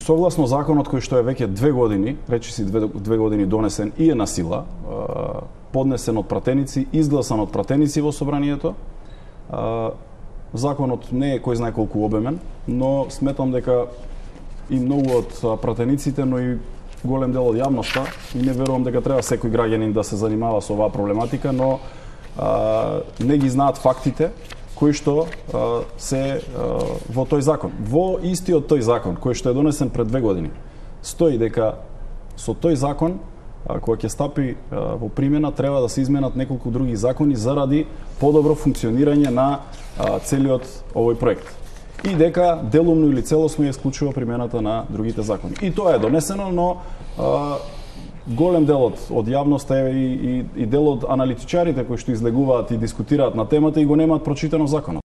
согласно законот кој што е веќе 2 години, речиси 2 години донесен и е на сила, поднесен од пратеници, изгласан од пратеници во собранието, законот не е кој знае колку обемен, но сметам дека и многу од пратениците, но и голем дел од јавноста, и не верувам дека треба секој граѓанин да се занимава со оваа проблематика, но не ги знаат фактите кои што се во тој закон. Во истиот тој закон, кој што е донесен пред 2 години, стои дека со тој закон, кога ќе стапи во примена, треба да се изменат неколку други закони заради подобро функционирање на целиот овој проект. И дека делумно или целосно ја исклучува примената на другите закони. И тоа е донесено, но голем дел од јавноста и дел од аналитичарите кои што излегуваат и дискутираат на темата и го немаат прочитано законот.